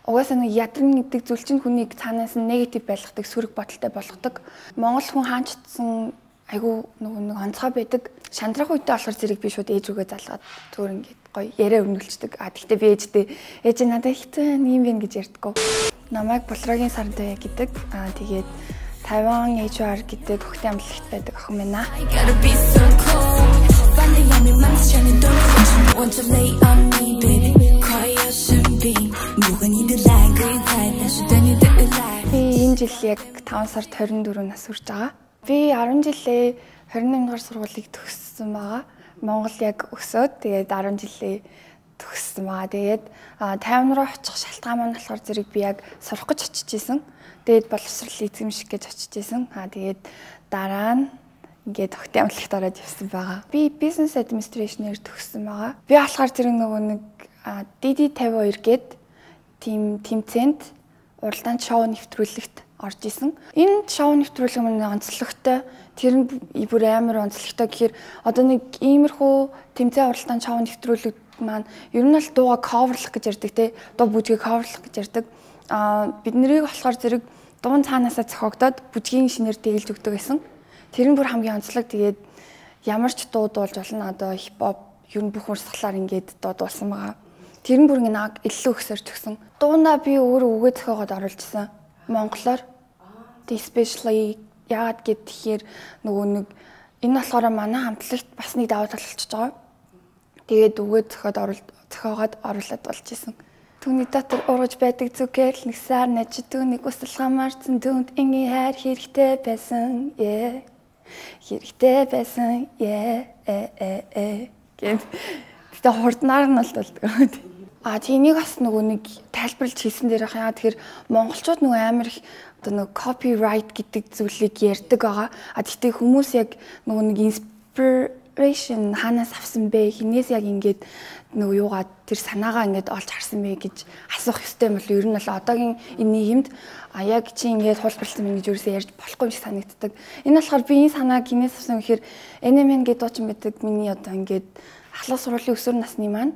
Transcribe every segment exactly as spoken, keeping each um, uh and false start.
Угаасаа нэг ядрын гэдэг зүйл чинь хүнийг цаанаас нь негатив байлгадаг, сөрөг бодолтой болгодог. Монгол хүн хаанчдсан айгу нэг онцгой байдаг. Шантрах үедээ болохоор зэрэг би шууд ээж рүүгээ залгаад зүгээр ингээд гоё яриа өрнүүлчихдэг. А тэгтээ би ээжтэй ээж надад ихтэй юм байна гэж ярьдаггүй. Намайг Булрагийн Сардай гэдэг. А тэгээд Тайван эйч ар гэдэг хөхтэй амлагт байдаг охин байна. Би энэ жил яг таван сард хорин дөрөв нас хүрч байгаа. Би арван жилээ хорин наймдугаар сургуулийг төгссөн байгаа. Монгол яг өсөөд тэгээд арван жилээ төгссөн байгаа. Тэгээд тайван руу очих шалтгаан маань болохоор зэрэг би яг сурах гэж очиж исэн. Тэгээд боловсрол эзэмших гэж очиж исэн. Аа тэгээд дараа нь ингээд хөхтэй амлагт ороод явсан байгаа. Би business administration-ээр төгссөн байгаа. Би болохоор зэрэг нөгөө нэг ди ди тавин хоёр гээд тим тэмцээнд уралдаан шоу нэвтрүүлэгт орж исэн. Энэ шоу нэвтрүүлэг маань онцлогтой. Тэр нь бүр амар онцлогтой гэхээр одоо нэг иймэрхүү тэмцээн уралдаан шоу нэвтрүүлэг маань ер нь бол дууга coverлах гэж ярьдаг те. Дуу бүжгийг coverлах гэж ярьдаг. Аа бид нарыг болохоор зэрэг дуун цаанаасаа зохиогдоод бүжгийн шинээр дэглэж өгдөг гэсэн. Тэр нь бүр хамгийн онцлог. Тэгээд ямар ч дуу дуулж болно. Одоо хипхоп ер нь бүх урсгалаар ингээд дуу дуулсан байгаа. Тэр нь бүр ингээд илүү өксөрч өгсөн. Дуунаа би өөрөө үгээ зохиогоод оруулжсэн. Монголоор especially яагаад гэхээр нөгөө нэг энэ болохоор манай хамтлагт бас нэг давуу тал болчихж байгаа. Тэгээд үгээ зохиод оруулж зохиогоод оруулаад болж исэн. Түүний дотор ургаж байдаг зүгэл нэг сар нажид түүнийг өсөл хамаарсан дүнд ингийн хайр хэрэгтэй байсан. Yeah. Хэрэгтэй байсан. Yeah. Э э э гэд. Тэгтээ хурднаар нь л болдог. А тийнийг бас нөгөө нэг тайлбарлаж хийсэн дээр яа тэгэхээр монголчууд нөгөө амар их одоо нөгөө copyright гэдэг зүйлийг ярьдаг байгаа. А тэгтээ хүмүүс яг нөгөө нэг inspiration ханаас авсан бэ? Хинээс яг ингээд нөгөө юугаа тэр санаагаа ингээд олж харсан бэ гэж асуух ёстой юм бол ер нь бол одоогийн энэ нийгэмд а яг чи ингээд хулбарлсан мэн гэж юусоо ярьж болохгүй юм шиг санагддаг. Энэ болохоор би энэ санааг хинээс авсан гэхээр эн эм эн гэдэг дуучин байдаг миний одоо ингээд ахлах сургуулийн өсвөр насны маань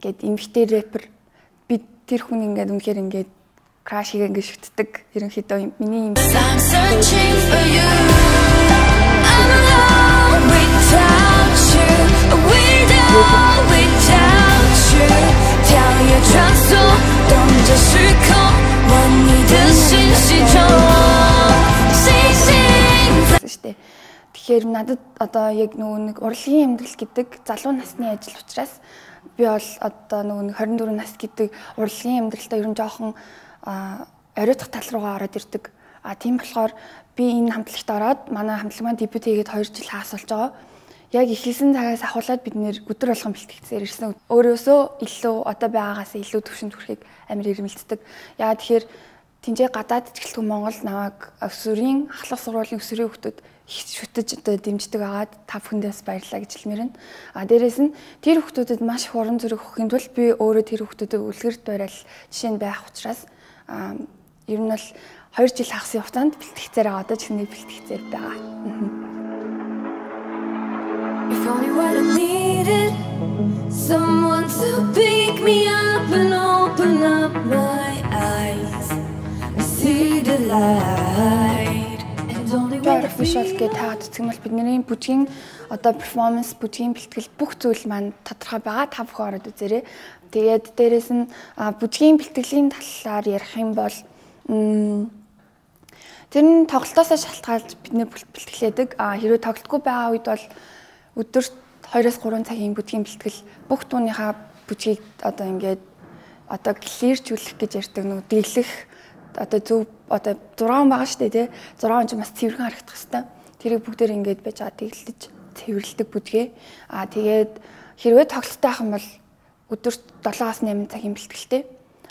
гээд эмгтэй рэпер би тэр хүн ингээд үнэхээр ингээд краш хийгээ ингээд шүтдэг ерөнхийдөө миний юм. Тэгэхээр надад одоо яг нөгөө нэг урлагийн амьдрал гэдэг залуу насны ажил учраас би бол одоо нөгөө нэг хорин дөрөв нас гэдэг урлагийн амьдралтай ер нь жоохон оройтох тал руугаа ороод ирдэг. А тийм болохоор би энэ хамтлагт ороод манай хамтлаг маань дебют хийгээд хоёр жил хагас болж байгаа. Яг ихэлсэн цагаас ахуулаад бид нэр өдөр болгон бэлтгэцээр ирсэн. Өөрөөсөө илүү одоо байгаагаас илүү төвшөнд хүрэхийг амар ирмэлцдэг. Яа тэгэхээр тэнцээ гадаад ичгэлтгүй Монгол намайг өсвөрийн ахлах сургуулийн өсвөрийн хүүхдүүд их шүтэж одоо дэмждэг агаад та бүхэндээс баярлалаа гэж хэлмээрэн. А дээрэс нь тэр хүүхдүүдэд маш их уран зориг өгөхийн тулд би өөрөө тэр хүүхдүүдэд үлгэрт барайл жишээ нь байх учраас а ер нь бол хоёр жил хагас хугацаанд бэлтгэцээр байгаа. Одоо ч нэг бэлтгэцээр байгаа. If only what I needed someone to pick me up and open up my eyes and see the light. Official гэдэг таад цэгмэл бидний бүжгийн одоо перформанс бүжгийн бэлтгэл бүх зүйл маань тодорхой байгаа. Та бүхэн ороод үзээрэй. Тэгээд дээрэс нь бүжгийн бэлтгэлийн талаар ярих юм бол тэр нь тоглолтоосоо шалтгаалж бидний бэлтгэлээдэг. А хэрвээ тоглолтгүй байгаа үед бол өдөрт хоёроос гурван цагийн бүжгийн бэлтгэл бүх дууныхаа бүжгийг одоо ингээд одоо клирчүүлэх гэж ярьдаг нөгөө дэглэх одоо зөв одоо зураг байгаа шүү дээ тий зураг нь бас цэвэрхэн харагдах хэвээр тэрийг бүгдээр ингээд байж байгаа дэглэж цэвэрлдэг бүжгээ. А тэгээд хэрвээ тоглолттой байх юм бол өдөрт долоос найман цагийн бэлтгэлтэй.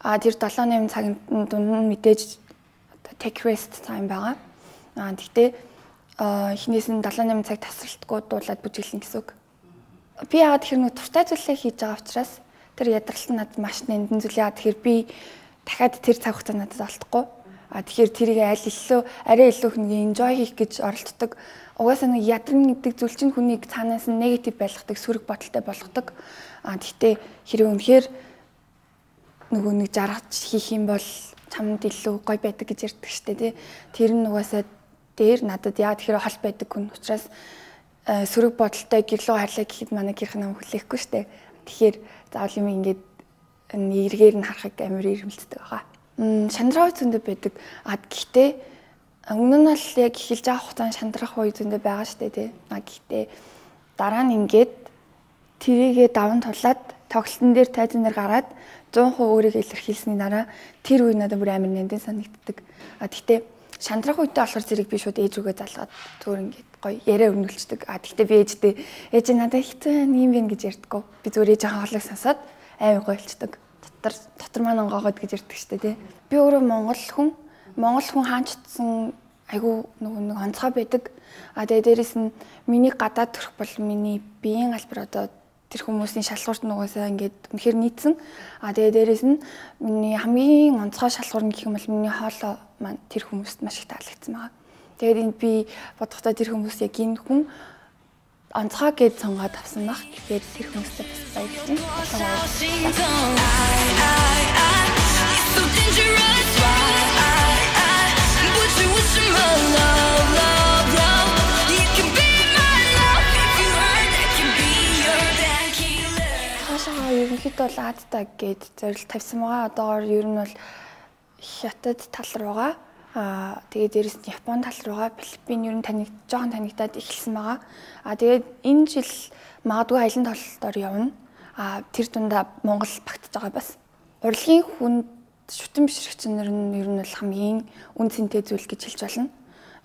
А тэр долоо найман цагийн дунд нь мэдээж одоо take rest time байгаа. А тэгтээ хинээс нь долоо найман цаг тасралтгүй дуулаад бүжиглэн гэсэн үг. Би яагаад тэгэхээр нэг туртай зүйлээ хийж байгаа учраас тэр ядралт нь надад маш нандин зүйл. Яагаад тэгэхээр би дахиад тэр цаг хугацаа надад олдохгүй. А тэгэхээр тэрийг аль илүү арай илүү их нэг enjoy хийх гэж оролддог. Угаасаа нэг ядрын гэдэг зүйл чинь хүнийг цаанаас нь негатив байлгадаг, сөрөг бодолтой болгодог. А тэгтээ хэрэг үнэхээр нөгөө нэг жаргаж хийх юм бол чамд илүү гоё байдаг гэж ярьдаг штэ тий. Тэр нь угаасаа дээр надад яа тэгэхээр хол байдаг хүн учраас сөрөг бодолтой гэрлөө харлаа гэхэд манай гэрх нам хүлээхгүй штэ. Тэгэхээр заавал юм ингээд эргээр нь харахыг амар ирмэлцдэг байгаа. Шандрах зөндөө байдаг. А гэхдээ өмнө нь л яг эхэлж байгаа хугацаанд шандрах үе зөндөө байгаа штэ тий. А гэхдээ дараа нь ингээд тэрийгээ даван тулаад тоглолтын дээр тайзан дээр гараад сто процент өөрийгөө илэрхийлсний дараа тэр үе надад бүр амар нандин санагддаг. А гэхдээ шандрах үедээ болохоор зэрэг би шууд ээж рүүгээ залгаад зүгээр ингээд гоё яриа өрнүүлцдэг. А гэхдээ би ээжтэй ээж надад хэцүү юм байна гэж ярьдаггүй. Би зүгээр ээж хаалгыг сонсоод аймаг гойлцдаг. Дотор дотор маань онгоогод гэж ярьдаг штэ тий. Би өөрөө монгол хүн монгол хүн хаанчдсан айгу нөгөө нэг онцгой байдаг. А тэгээ дээрэс нь миний гадаад төрх бол миний биеийн албар одоо тэр хүмүүсийн шалгуурт нугасаа ингээд үнэхээр нийцсэн. А тэгээ дээрэс нь миний хамгийн онцгой шалгуур нь гэх юм бол миний хоолой маань тэр хүмүүст маш их таалагдсан байгаа. Тэгээд энд би бодохдоо тэр хүмүүс яг энэ хүн онцгой гэж сонгоод авсан баг. Тэгэхээр тэр хүмүүстээ бас баярлалаа. Ерөнхийдөө бол Азтай гээд зорилт тавьсан байгаа. Одоогоор ер нь бол Хятад тал руугаа аа тэгээд дээрэс нь Япон тал руугаа Филиппин ер нь таnig жоохон танигдаад эхэлсэн байгаа. Аа тэгээд энэ жил магадгүй аялын тололтоор явна. Аа тэр дундаа Монгол багтаж байгаа бас. Урлагийн хүнд шүтэн бишрэгчнэр нь ер нь бол хамгийн үн цэнтэй зүйл гэж хэлж болно.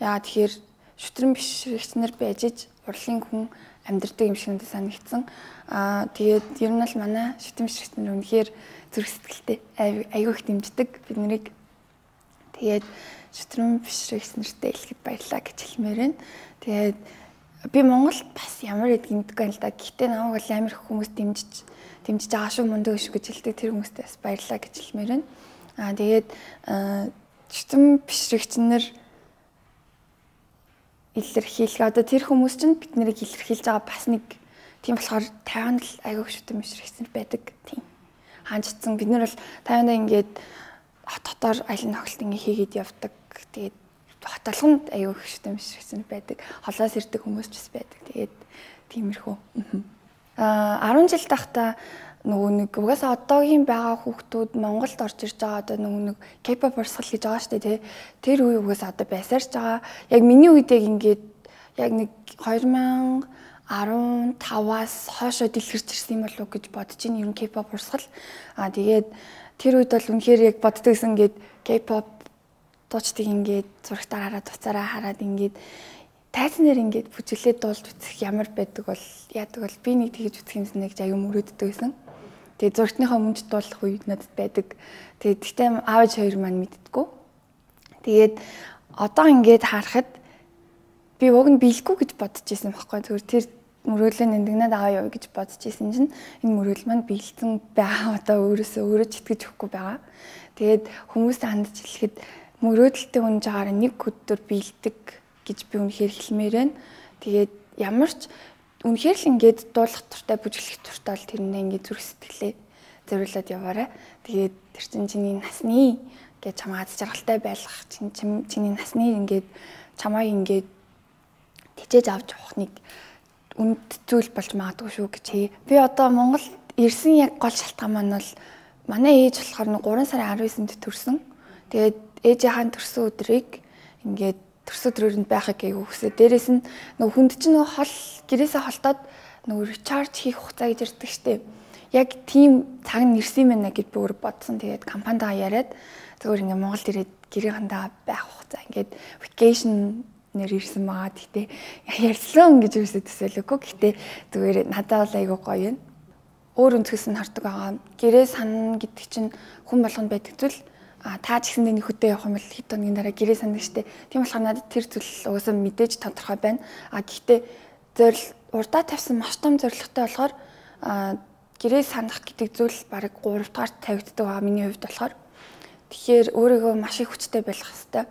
Яа тэгэхээр шүтэн бишрэгчнэр байж иж урлагийн хүн амьдрдаг юм шиг надад санагдсан. Аа тэгээд ер нь л манай шүтэн бишрэгчнэр үнэхээр зүрх сэтгэлтэй аягүй их дэмждэг бид нарыг. Тэгээд шүтэн бишрэгчнэртэй хэлэхэд баярлалаа гэж хэлмээр байна. Тэгээд би Монголд бас ямар эд гинтгүй юм л да. Гэхдээ намайг бол амар их хүмүүс дэмжиж дэмжиж байгаа шүү мундаг шүү гэж хэлдэг тэр хүмүүстээ бас баярлалаа гэж хэлмээр байна. Аа тэгээд шүтэн бишрэгчнэр илэрхийлэх одоо тэр хүмүүс чинь бид нарыг илэрхийлж байгаа бас нэг тийм болохоор Тайванд л аягүй шүтэн бишрэгчнэр байдаг тийм хаанчдсан бид нар бол Тайванда ингээд хот хотоор аялын тоглолт ингээ хийгээд явдаг. Тэгээд хот толгонд аягүй шүтэн бишрэгчнэр байдаг. Холоос ирдэг хүмүүс ч бас байдаг. Тэгээд тиймэрхүү. Аа арван жил тахта нөгөө нэг угаасаа одоогийн байгаа хүүхдүүд Монголд орж ирж байгаа одоо нөгөө нэг K-pop урсгал гэж байгаа шүү дээ тий. Тэр үе угаасаа одоо байсаарч байгаа. Яг миний үед яг ингээд яг нэг хоёр мянга арван таваас хоошоо дэлгэрч ирсэн юм болов уу гэж бодож ин ер нь K-pop урсгал. Аа тэгээд тэр үед бол үнэхээр яг боддог гэсэн ингээд K-pop дуучдыг ингээд зурагтаар хараад уцаараа хараад ингээд тайзнэр ингээд бүжиглээд дуулж үзэх ямар байдаг бол яадаг бол би нэг тэгж үзэх юмсан гэж аюу мөрөөддөг байсан. Тэгээд зурагтныхаа өмнөд дуулах үед надад байдаг. Тэгээд гэхдээ аавч хоёр маань мэддэггүй. Тэгээд одоо ингээд харахад би уг нь биелэхгүй гэж бодож ирсэн байхгүй. Зүгээр тэр мөрөөдлөө нэндэгнээд аваа яа гэж бодож ирсэн чинь энэ мөрөөдөл маань биелсэн байгаа. Одоо өөрөөсөө өөрөө ч итгэж өгөхгүй байгаа. Тэгээд хүмүүст хандж хэлэхэд мөрөөдөлтэй үнж байгаараа нэг өдөр биелдэг гэж би үнэхээр хэлмээр байна. Тэгээд ямар ч үнэхээр л ингээд дуулах туртай бүжиглэх туртай бол тэрнээ ингээд зүрх сэтгэлээ зориулаад яваарай. Тэгээд тэр чинь чиний насны гэж чамаа аз жаргалтай байлгах чинь чиний насны ингээд чамаа ингээд тижээж авч явах нэг үнд зүйл болж магадгүй шүү гэж. Би одоо Монголд ирсэн яг гол шалтгаан маань бол манай ээж болохоор нэг гурван сарын арван есэнд төрсөн. Тэгээд ээжийн төрсөн өдрийг ингээд төрсөн өдрөнд байхыг айгүй хүсээ. Дээрээс нь нөгөө хүнд чинь нөгөө хол гэрээсээ холдоод нөгөө ричарж хийх хугацаа гэж ярьдаг штеп. Яг тийм цаг нэрсэн юм байна гэж би өөр бодсон. Тэгээд компанидаа яриад зөвөр ингээд Монголд ирээд гэрээхэндээ байх хугацаа ингээд vacation нэр ирсэн байгаа. Гэхдээ ярьсан гэж үсээ төсөөлөөгүй. Гэхдээ зүгээр надад бол айгүй гоё юм. Өөр өнцгөөс нь хардаг байгаа. Гэрээ санана гэдэг чинь хүн болгонд байдаг зүйл. А та ч гэсэндээ нөхөдөө явах юм бол хэд хоногийн дараа гэрээ сандаг штэ. Тийм болохоор надад тэр зүйл угаасаа мэдээж тодорхой байна. А гэхдээ зорил урдаа тавьсан маш том зорилготой болохоор гэрээ санах гэдэг зүйл бараг гурав дахь тавигддаг байгаа миний хувьд болохоор. Тэгэхээр өөрийгөө маш их хүчтэй байлгах хэрэгтэй.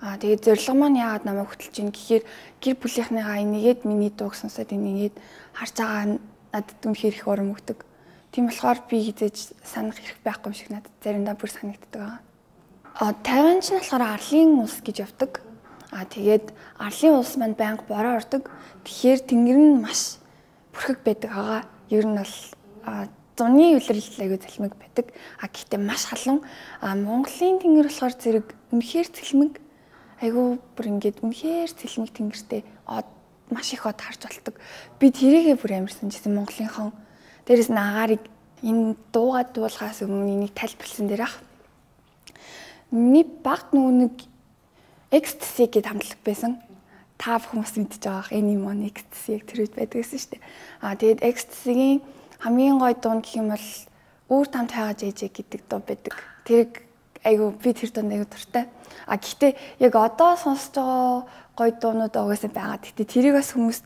А тэгээд зорилго маань яагаад намайг хөтлж ийн гэхээр гэр бүлийнхнийгаа энийгээд миний дууг сонсоод энийгээд харж байгаа надад үнэхээр их урам өгдөг. Тийм болохоор би хизээж санах хэрэг байхгүй юм шиг надад заримдаа бүр санагддаг байгаа. А Тайванч нь болохоор арлын улс гэж явдаг. А тэгээд арлын улс манд байнга бороо ордог. Тэгэхээр тэнгэр нь маш бүрхэг байдаг байгаа. Ер нь бол зуны улирал аягүй цэлмэг байдаг. А гэхдээ маш халуун. А Монголын тэнгэр болохоор зэрэг үнэхээр цэлмэг. Айгүй бүр ингээд үнэхээр цэлмэг тэнгэртэй маш их од харж болдог. Би тэрийгээ бүр амарсан гэсэн Монголынхон. Дээрээс нь агаарыг энэ дуугаад дуулахаас өмнө энийг тайлбарлсан дээр ах. Миний багт нөгөө нэг экстаси гэдэг хамтлаг байсан. Та хүмүүс мэдж байгаа Anyone экстаси тэр үед байдаг гэсэн шүү дээ. Аа тэгээд экстасигийн хамгийн гоё дуу гэх юм бол Үүр тамт хайгаа жээжээ гэдэг дуу байдаг. Тэр айгу би тэр дуунд айгу дуртай. А гэхдээ яг одоо сонсож байгаа гоё дуунууд угаасаа байгаа. Гэхдээ тэрийг бас хүмүүст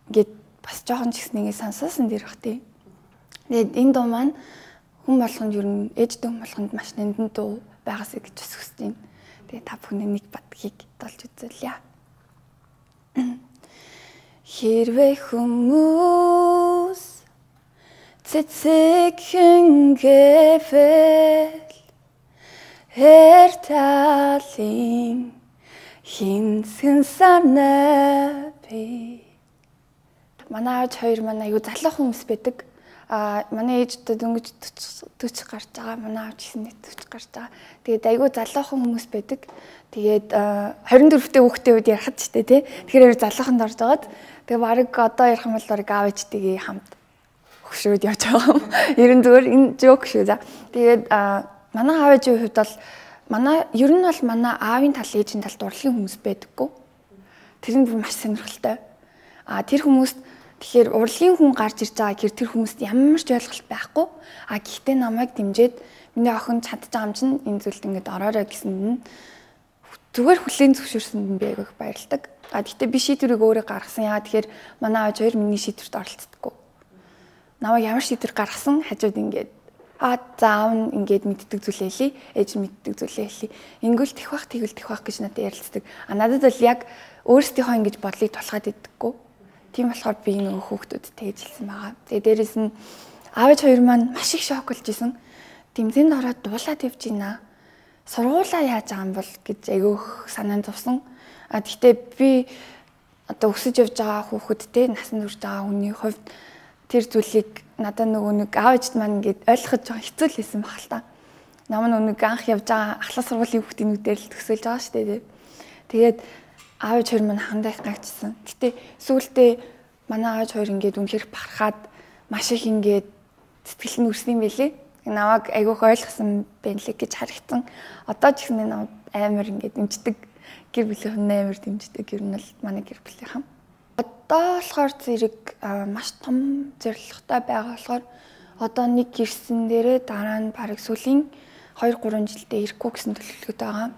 ингээд бас жоохон ч гэсэн ингэ сонсоосон дэр бах тий. Тэгээд энэ дуу маань хүн болгонд ер нь ээжтэй хүн болгонд маш нандин дуу байгаасаа гэж бас хүсэж байна. Тэгээд та бүхэн нэг бадгийг толж үзүүлье. Хэрвээ хүмүүс цэцэг хингэвэл эрталин хинсэн санаа би. Манай ээж хоёр манай аюу залуу хүмүүс байдаг. А манай ээжтэй дөнгөж төрчих гарч байгаа. Манай аав гэсэн нэг төрчих гарч байгаа. Тэгээд айгүй залуухан хүмүүс байдаг. Тэгээд хорин дөрөвтэй хүүхдийн үед ярахад ч тий. Тэгэхээр залууханд орж байгаад тэгээд баг одоо ярих юм бол баг аав ээжтэйгээ хамт хөшрөөд явж байгаа юм. Ер нь зүгээр энэ жок шүү за. Тэгээд манай аав ээжийн хувьд бол манай ер нь бол манай аавын тал ээжийн талд урлагийн хүмүүс байдаггүй. Тэр нь бүр маш сонирхолтой. А тэр хүмүүст тэгэхээр урлагийн хүн гарч ирж байгаа гэхээр тэр хүмүүст ямар ч ойлголт байхгүй. А гэхдээ намайг дэмжиж миний охин чадж байгаа юм чинь энэ зүйлд ингэж ороорой гэсэнд нь зүгээр хүлээн зөвшөөрсөнд нь би айгүйх баярлагдав. А гэхдээ би шийдвэрийг өөрөө гаргасан. Яа тэгэхээр манай аав хоёр миний шийдвэрт оролцдоггүй. Намайг ямар шийдвэр гаргасан хажууд ингэж а заав нь ингэж мэддэг зүйлээ хэлий, ээж мэддэг зүйлээ хэлий. Ингүүл тэх бах тэгвэл тэх бах гэж надад ярилцдаг. А надад бол яг өөрсдийнхөө ингэж бодлыг тулгаад иддэггүй. Тийм болохоор би нөгөө хүүхдүүдтэй хэлсэн байгаа. Тэгээ дээрэс нь аав хоёр маань маш их шок болж исэн. Тэмцээнд ороод дуулаад явж байна. Сургуулаа яаж байгаа юм бол гэж айгүйх санаанд зовсон. А гэхдээ би одоо өсөж явж байгаа хүүхэдтэй насан турш байгаа хүний хувьд тэр зүйлийг надад нөгөө нэг аав ээжд маань ингээд ойлгоход жоохон хэцүү л байсан баг л та. Нам нэг анх явж байгаа ахлах сургуулийн хүүхдүүдээр л төсөөлж байгаа шүү дээ. Тэгээд аав ээж хоёр маань хандаа их гайхажсэн. Гэтэ сүүлдээ манай аав хоёр ингээд үнэхээр барахад маш их ингээд сэтгэл нь үрсэн юм байлээ. Намайг айгүйх ойлгосон байна лээ гэж харагдсан. Одоо ч гэсэн намайг амар ингээд дэмждэг. Гэр бүлийн амар дэмждэг. Ер нь бол манай гэр бүлийнхэн. Одоо болохоор зэрэг маш том зорилготой байгаа болохоор одоо нэг гэрсэн дээрээ дараа нь бараг сүүлийн хоёр гурван жилдээ ирэхгүй гэсэн төлөвлөгөөтэй байгаа.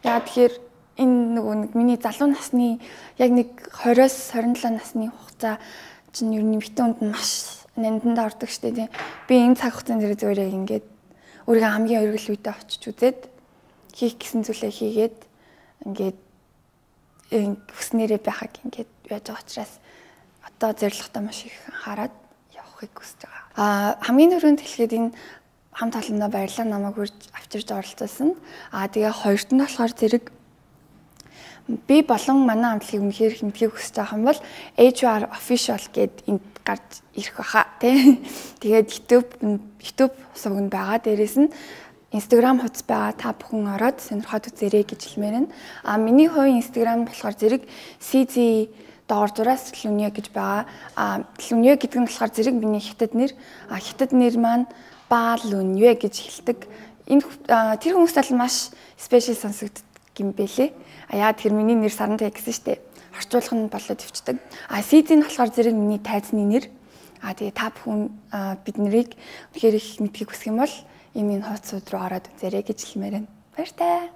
Яа тэгэхээр энэ нөгөө нэг миний залуу насны яг нэг двадцоос двадцин долоо насны хугацаа чинь ер нь битүүнд нь маш нанданд ордог штэ тийм. Би энэ цаг хугацаанд зэрэг зүгээр яг ингээд өөрийгөө хамгийн өргөл үедээ очиж үзээд хийх гэсэн зүйлээ хийгээд ингээд хүснээрээ байхаг ингээд яаж байгаа учраас одоо зорилготой маш их хараад явахыг хүсэж байгаа. Аа хамгийн түрүүнд хэлэхэд энэ хамт олондоо баярлалаа намайг хурж авчирж оролцуулсан. Аа тэгээ хоёрт нь болохоор зэрэг би болон манай хамтлагийг үнэхээр хэмтгийг хүсэж байгаа юм бол H R official гэд энд гарч ирэх баха тий. Тэгээд YouTube YouTube сувганд байгаа. Дээрээс нь Instagram хуудас байгаа. Та бүхэн ороод сонирхоод үзээрэй гэж хэлмээр байна. А миний хувийн Instagram болохоор зэрэг C Z доор зураас Лүнье гэж байгаа. А Лүнье гэдэг нь болохоор зэрэг миний хятад нэр. А хятад нэр маань Ба Лүнье гэж хэлдэг. Энэ тэр хүмүүст бол маш спешиал сонсогддог юм бэлээ. А яа тэгэхээр миний нэр Сарантай гэсэн штэ. Орчуулах нь болоод өвчдөг. А C Z нь болохоор зэрэг миний тайзны нэр. А тэгээ та бүхэн бид нарыг үнэхээр их мэдхийг хүсэх юм бол энэ хуудсууд руу ороод үзээрэй гэж хэлмээр байна. Баяр таа.